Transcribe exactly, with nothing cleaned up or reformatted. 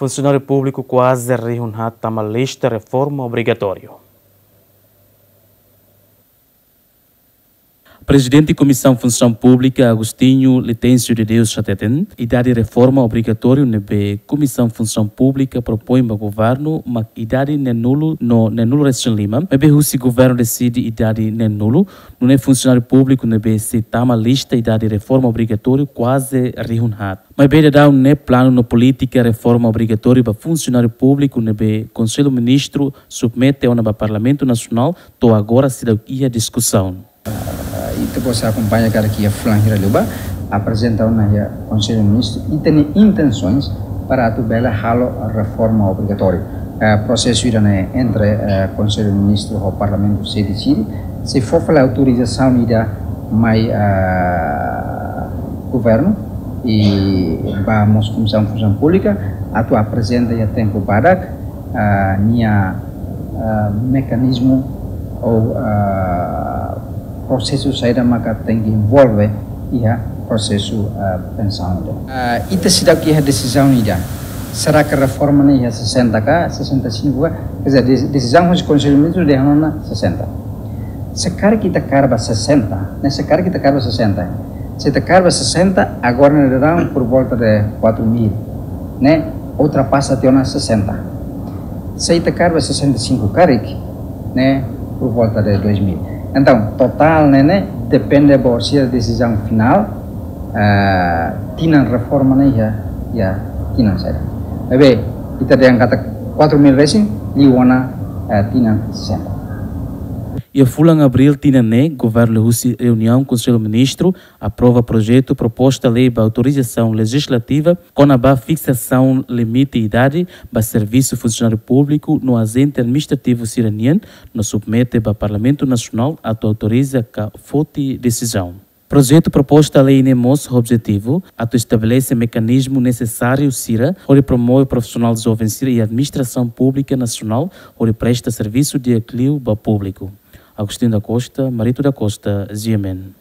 Funsionáriu públiku kuaze rihun haat tama lista reforma obrigatóriu. Prezidente Komisaun Funsaun Públika, Agostinho Letêncio de Deus, hateten, idade reforma obrigatóriu ne'ebé Komisaun Funsaun Públika propoin ba governu mak idade neenulu no neenulu resin lima, maibé husi governu deside idade neenulu, nune'e funsionáriu públiku ne'ebé sei tama lista idade reforma obrigatóriu kuaze rihun haat. Maibé daudaun ne'e planu no polítika reforma obrigatóriu ba funsionáriu públiku ne'ebé Konsellu Ministru submete ona ba Parlamentu Nasionál to'o agora seidauk iha diskusaun. Ah, ita-boot sei akompaña karik iha fulan hira liubá, aprezenta ona iha Konsellu Ministru ita-nia intensoens para atu bele halo reforma obrigatóriu. Eh, prosesu ida-ne'e entre, eh, Konsellu Ministru ho Parlamentu sei deside, sei fó fali autorizasaun ida mai, eh, governu i ba mós Komisaun Funsaun Públika atu aprezenta iha tempu badak, eh, nia, eh, mekanizmu ou, eh, prosesu saida maka tenke envolve iha prosesu, eh, pensaun ida. Eh, ita seidauk iha desizaun ida. Será que reforma ne'e iha sesenta ka, sesenta e cinco ka? Quer dizer, desi-, desizaun husi Konsellu Ministru dehan ona sesenta. Se karik ita kaer ba sesenta, ne'e, se karik ita kaer ba sesenta. Se ita kaer ba sesenta, agora ne'e daudaun por volta de quatro mil, ne'e, ultrapasa tiha ona sesenta. Se ita kaer ba sesenta e cinco karik, ne'e, por volta de dois mil. Entaun, totál ne'e, ne'e depende ba sira desizaun finál, eh, tinan reforma ne'e iha, iha tinan saida. Maibé, ita dehan katak quatro mil resin, liu ona, eh, tinan sesenta. Iha fulan Abríl tinan ne'e, governu husi reuniaun Konsellu Ministru aprova projetu proposta lei ba autorizasaun lejizlativa kona-ba fiksasaun limite idade ba servisu funsionáriu públiku no ajente administrativu sira-nian, no submete ba Parlamentu Nasionál atu autoriza ka foti desizaun. Projetu proposta lei ne'e mós objetivu atu estabelese mekanizmu nesesáriu sira hodi promove profisionál joven sira iha administrasaun públika nasionál hodi presta servisu di'ak liu ba públiku. Agostinho da Costa, Marito da Costa, G M N.